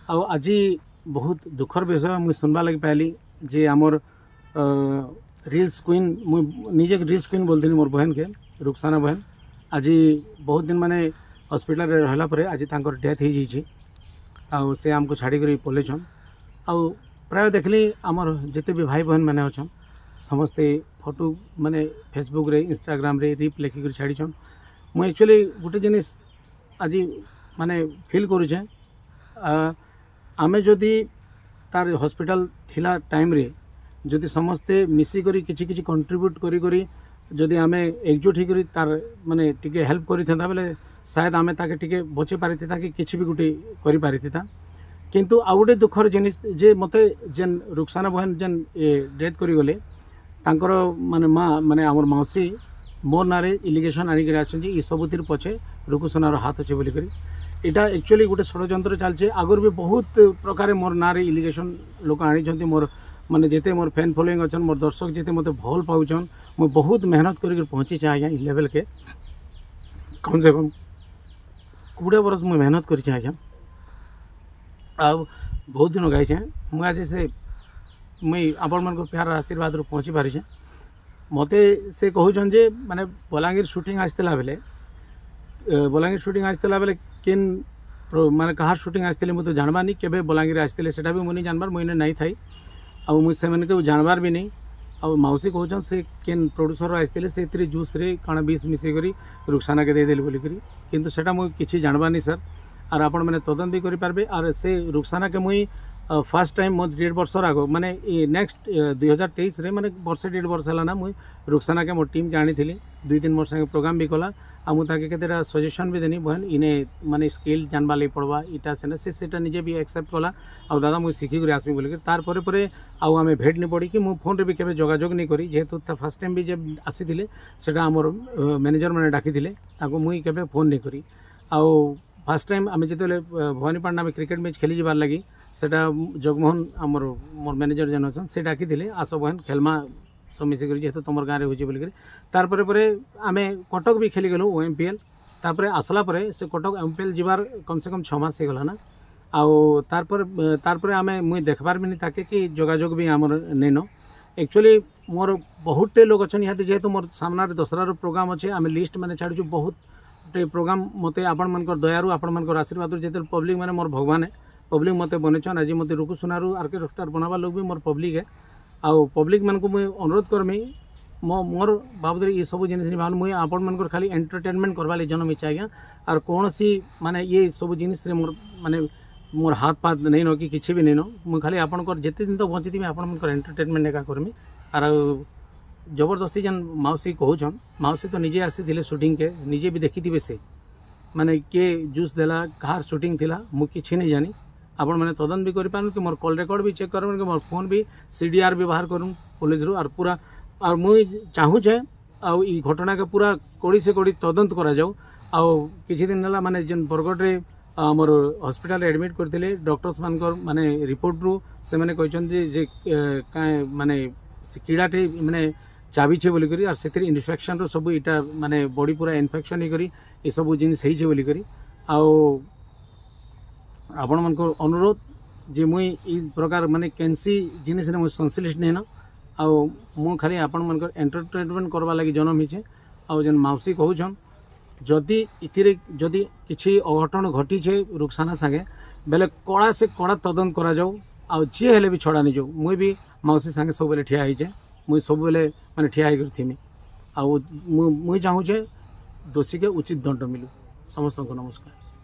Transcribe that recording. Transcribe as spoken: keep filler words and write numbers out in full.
ଆଉ ଆଜି ବହୁତ ଦୁଃଖର ବିଷୟ ମୁଇଁ ଶୁଣବା ଲାଗି ପାଇଲି ଯେ ଆମର ରିଲ୍ସ କୁଇନ୍, ମୁଇଁ ନିଜେ ରିଲ୍ସ କୁଇନ୍ ବୋଲଥିଲି ମୋର୍ ବହେନକେ, ରୁକସାନା ବହେନ ଆଜି ବହୁତ ଦିନ ମାନେ ହସ୍ପିଟାଲରେ ରହିଲା ପରେ ଆଜି ତାଙ୍କର ଡେଥ୍ ହେଇଯାଇଛି ଆଉ ସେ ଆମକୁ ଛାଡ଼ିକରି ପଲେଇଛନ୍। ଆଉ ପ୍ରାୟ ଦେଖିଲି ଆମର ଯେତେ ବି ଭାଇ ବହେନ ମାନେ ଅଛନ୍, ସମସ୍ତେ ଫଟୋ ମାନେ ଫେସବୁକ୍ରେ, ଇନଷ୍ଟାଗ୍ରାମରେ ରିପ୍ ଲେଖିକରି ଛାଡ଼ିଛନ୍। ମୁଁ ଆକ୍ଚୁଆଲି ଗୋଟେ ଜିନିଷ ଆଜି ମାନେ ଫିଲ୍ କରୁଛେଁ, ଆମେ ଯଦି ତାର ହସ୍ପିଟାଲ ଥିଲା ଟାଇମ୍ରେ ଯଦି ସମସ୍ତେ ମିଶିକରି କିଛି କିଛି କଣ୍ଟ୍ରିବ୍ୟୁଟ୍ କରି କରି ଯଦି ଆମେ ଏକଜୁଟ ହେଇକରି ତାର ମାନେ ଟିକେ ହେଲ୍ପ କରିଥାନ୍ତା ବେଲେ ସାୟଦ ଆମେ ତାକେ ଟିକେ ବଞ୍ଚେଇ ପାରିଥିତା କି କିଛି ବି ଗୋଟେ କରିପାରିଥିତା। କିନ୍ତୁ ଆଉ ଗୋଟେ ଦୁଃଖର ଜିନିଷ ଯେ ମୋତେ ଯେନ୍ ରୁକସାନା ବହେନ ଯେନ୍ ଡେଥ୍ କରିଗଲେ, ତାଙ୍କର ମାନେ ମା ମାନେ ଆମର ମାଉସୀ ମୋର୍ ନାଁରେ ଇଲିଗେସନ୍ ଆଣିକରି ଆସନ୍ତି, ଇ ସବୁଥିର ପଛେ ରୁକୁସୁନାର ହାତ ଅଛି ବୋଲିକରି। ଏଇଟା ଆକ୍ଚୁଆଲି ଗୋଟେ ଷଡ଼ଯନ୍ତ୍ର ଚାଲିছে। ଆଗରୁ ବି ବହୁତ ପ୍ରକାର ମୋର୍ ନାଁରେ ଇଲିଗେସନ୍ ଲୋକ ଆଣିଛନ୍ତି। ମୋର୍ ମାନେ ଯେତେ ମୋର୍ ଫ୍ୟାନ୍ ଫଲୋଇଂ ଅଛନ୍, ମୋର୍ ଦର୍ଶକ ଯେତେ ମୋତେ ଭଲ ପାଉଛନ୍, ମୁଁ ବହୁତ ମେହନତ କରିକି ପହଞ୍ଚିଛେ ଆଜ୍ଞା ଇ ଲେଭେଲ୍କେ। କମ୍ ସେ କମ୍ କୋଡ଼ିଏ ବରଷ ମୁଇଁ ମେହନତ କରିଛେ ଆଜ୍ଞା, ଆଉ ବହୁତ ଦିନ ଗାଇଛେଁ ମୁଁ। ଆଜି ସେ ମୁଇଁ ଆପଣମାନଙ୍କ ପ୍ୟାର ଆଶୀର୍ବାଦରୁ ପହଞ୍ଚି ପାରିଛେଁ। ମୋତେ ସେ କହୁଛନ୍ ଯେ ମାନେ ବଲାଙ୍ଗୀର ସୁଟିଂ ଆସିଥିଲା ବେଲେ, ବଲାଙ୍ଗୀର ସୁଟିଂ ଆସିଥିଲା ବେଲେ କେନ୍ ମାନେ କାହାର ସୁଟିଂ ଆସିଥିଲେ ମୁଁ ତ ଜାଣବାନି, କେବେ ବଲାଙ୍ଗୀର ଆସିଥିଲେ ସେଟା ବି ମୁଁ ନି ଜାଣବାର୍, ମୁଇଁ ନାଇଁ ଥାଇ ଆଉ ମୁଇଁ ସେମାନଙ୍କୁ ଜାଣବାର୍ ବି ନେଇ। ଆଉ ମାଉସୀ କହୁଛନ୍ ସେ କେନ୍ ପ୍ରଡ୍ୟୁସର ଆସିଥିଲେ, ସେଥିରେ ଜୁସ୍ରେ କାଣା ବିଷ ମିଶେଇକରି ରୁକସାନାକେ ଦେଇଦେଲେ ବୋଲିକରି। କିନ୍ତୁ ସେଟା ମୁଇଁ କିଛି ଜାଣବାନି ସାର୍, ଆର୍ ଆପଣମାନେ ତଦନ୍ତ ବି କରିପାରିବେ। ଆର୍ ସେ ରୁକସାନାକେ ମୁଇଁ ଫାର୍ଷ୍ଟ ଟାଇମ୍ ମୋ ଦେଢ଼ ବର୍ଷର ଆଗ ମାନେ ଇ ନେକ୍ସଟ ଦୁଇ ହଜାର ତେଇଶରେ, ମାନେ ବର୍ଷେ ଦେଢ଼ ବର୍ଷ ହେଲା ନା, ମୁଇଁ ରୁକସାନାକେ ମୋ ଟିମ୍କେ ଆଣିଥିଲି। ଦୁଇ ତିନି ବର୍ଷ ସାଙ୍ଗେ ପ୍ରୋଗ୍ରାମ୍ ବି କଲା ଆଉ ମୁଁ ତାକେ କେତେଟା ସଜେସନ୍ ବି ଦେନି, ବହେନ ଇନେ ମାନେ ସ୍କିଲ୍ ଜାନବା ଲାଗି ପଡ଼ବା, ଇଟା ସେଟା। ସେ ସେଟା ନିଜେ ବି ଆକ୍ସେପ୍ଟ କଲା ଆଉ ଦାଦା ମୁଇଁ ଶିଖିକରି ଆସମି ବୋଲିକରି। ତାର୍ ପରେ ପରେ ଆଉ ଆମେ ଭେଟ ନି ପଡ଼ିକି ମୁଁ ଫୋନ୍ରେ ବି କେବେ ଯୋଗାଯୋଗ ନି କରି, ଯେହେତୁ ତା ଫାର୍ଷ୍ଟ ଟାଇମ୍ ବି ଯେ ଆସିଥିଲେ ସେଟା ଆମର ମ୍ୟାନେଜର ମାନେ ଡାକିଥିଲେ ତାଙ୍କୁ, ମୁଇଁ କେବେ ଫୋନ୍ ନି କରି। ଆଉ ଫାର୍ଷ୍ଟ ଟାଇମ୍ ଆମେ ଯେତେବେଳେ ଭବାନୀପାଟଣା ଆମେ କ୍ରିକେଟ୍ ମ୍ୟାଚ୍ ଖେଲି ଯିବାର୍ ଲାଗି, ସେଟା ଜଗମୋହନ ଆମର ମୋର୍ ମ୍ୟାନେଜର ଯେନ୍ ଅଛନ୍, ସେ ଡାକିଥିଲେ, ଆସ ବହେନ ଖେଲ୍ମା ସବୁ ମିଶିକରି, ଯେହେତୁ ତୁମର ଗାଁରେ ହେଉଛି ବୋଲିକରି। ତାର୍ ପରେ ପରେ ଆମେ କଟକ ବି ଖେଲିଗଲୁ ଓ ଏମ୍ ପି ଏଲ୍। ତାପରେ ଆସିଲା ପରେ ସେ କଟକ ଏମ୍ ପି ଏଲ୍ ଯିବାର କମ୍ ସେ କମ୍ ଛଅ ମାସ ହେଇଗଲା ନା। ଆଉ ତାରପରେ ତାରପରେ ଆମେ ମୁଇଁ ଦେଖବାର୍ ବି ନି ତାକେ କି ଯୋଗାଯୋଗ ବି ଆମର ନେଇନ। ଆକ୍ଚୁଆଲି ମୋର ବହୁତଟେ ଲୋକ ଅଛନ୍ ଇହାଦେ, ଯେହେତୁ ମୋର ସାମ୍ନାରେ ଦଶହରାର ପ୍ରୋଗ୍ରାମ୍ ଅଛେ, ଆମେ ଲିଷ୍ଟ ମାନେ ଛାଡ଼ୁଛୁ ବହୁତଟେ ପ୍ରୋଗ୍ରାମ୍। ମୋତେ ଆପଣମାନଙ୍କର ଦୟାରୁ, ଆପଣମାନଙ୍କର ଆଶୀର୍ବାଦରୁ, ଯେତେବେଳେ ପବ୍ଲିକ୍ ମାନେ ମୋର ଭଗବାନ, ପବ୍ଲିକ୍ ମୋତେ ବନେଇଛନ୍। ଆଜି ମୋତେ ରୁକୁ ସୁନାରୁ ଆର୍ କେ ରକଷ୍ଟାର ବନାବା ଲୋକ ବି ମୋର ପବ୍ଲିକ୍ ହେ। ଆଉ ପବ୍ଲିକ୍ ମାନଙ୍କୁ ମୁଇଁ ଅନୁରୋଧ କରମି, ମୋ ମୋର୍ ବାବଦରେ ଏ ସବୁ ଜିନିଷ ନି ଭାବନ୍। ମୁଇଁ ଆପଣମାନଙ୍କର ଖାଲି ଏଣ୍ଟରଟେନମେଣ୍ଟ କରବା ଲାଗି ଜନ୍ମ ହେଇଛେ ଆଜ୍ଞା। ଆର୍ କୌଣସି ମାନେ ଇଏ ସବୁ ଜିନିଷରେ ମୋର ମାନେ ମୋର୍ ହାତ ପାତ ନେଇନ କି କିଛି ବି ନେଇନ। ମୁଁ ଖାଲି ଆପଣଙ୍କର ଯେତେ ଦିନ ତ ବଞ୍ଚିଥିବି, ଆପଣମାନଙ୍କର ଏଣ୍ଟରଟେନମେଣ୍ଟ ଏକା କରମି। ଆର୍ ଜବରଦସ୍ତି ଯେନ୍ ମାଉସୀ କହୁଛନ୍, ମାଉସୀ ତ ନିଜେ ଆସିଥିଲେ ସୁଟିଂକେ, ନିଜେ ବି ଦେଖିଥିବେ ସେ ମାନେ କିଏ ଜୁସ୍ ଦେଲା, କାହାର ସୁଟିଂ ଥିଲା, ମୁଁ କିଛି ନେଇ ଜାନି। ଆପଣମାନେ ତଦନ୍ତ ବି କରିପାରୁନ୍ କି ମୋର୍ କଲ୍ ରେକର୍ଡ଼ ବି ଚେକ୍ କରନ୍ କି ମୋର୍ ଫୋନ୍ ବି ସି ଡି ଆର୍ ବି ବାହାର କରୁନ୍ ପୋଲିସରୁ। ଆର୍ ପୁରା ଆର୍ ମୁଇଁ ଚାହୁଁଛେ ଆଉ ଇ ଘଟଣାକେ ପୁରା କଡ଼ି ସେ କଡ଼ି ତଦନ୍ତ କରାଯାଉ। ଆଉ କିଛି ଦିନ ହେଲା ମାନେ ଯେନ୍ ବରଗଡ଼ରେ ଆମର ହସ୍ପିଟାଲରେ ଆଡ଼ମିଟ୍ କରିଥିଲେ, ଡକ୍ଟର୍ସ ମାନଙ୍କର ମାନେ ରିପୋର୍ଟରୁ ସେମାନେ କହିଛନ୍ତି ଯେ କାଁ ମାନେ ସେ କିଡ଼ାଟେ ମାନେ ଚାବିଛେ ବୋଲିକରି, ଆର୍ ସେଥିରେ ଇନଫେକ୍ସନ୍ର ସବୁ ଇଟା ମାନେ ବଡି ପୁରା ଇନଫେକ୍ସନ୍ ହେଇକରି ଏସବୁ ଜିନିଷ ହେଇଛେ ବୋଲିକରି। ଆଉ ଆପଣମାନଙ୍କର ଅନୁରୋଧ ଯେ ମୁଇଁ ଇ ପ୍ରକାର ମାନେ କେନ୍ସି ଜିନିଷରେ ମୁଇଁ ସଂଶ୍ଳିଷ୍ଟ ନେଇନ। ଆଉ ମୁଁ ଖାଲି ଆପଣମାନଙ୍କର ଏଣ୍ଟରଟେନମେଣ୍ଟ କରବା ଲାଗି ଜନ୍ମ ହେଇଛେ। ଆଉ ଯେନ୍ ମାଉସୀ କହୁଛନ୍, ଯଦି ଏଥିରେ ଯଦି କିଛି ଅଘଟଣ ଘଟିଛେ ରୁକସାନା ସାଙ୍ଗେ ବେଲେ କଡ଼ା ସେ କଡ଼ା ତଦନ୍ତ କରାଯାଉ ଆଉ ଯିଏ ହେଲେ ବି ଛଡ଼ା ନିଯାଉ। ମୁଇଁ ବି ମାଉସୀ ସାଙ୍ଗେ ସବୁବେଲେ ଠିଆ ହେଇଛେ, ମୁଇଁ ସବୁବେଲେ ମାନେ ଠିଆ ହେଇକରି ଥିମି। ଆଉ ମୁଁ ମୁଇଁ ଚାହୁଁଛେ ଦୋଷୀକେ ଉଚିତ ଦଣ୍ଡ ମିଲୁ। ସମସ୍ତଙ୍କୁ ନମସ୍କାର।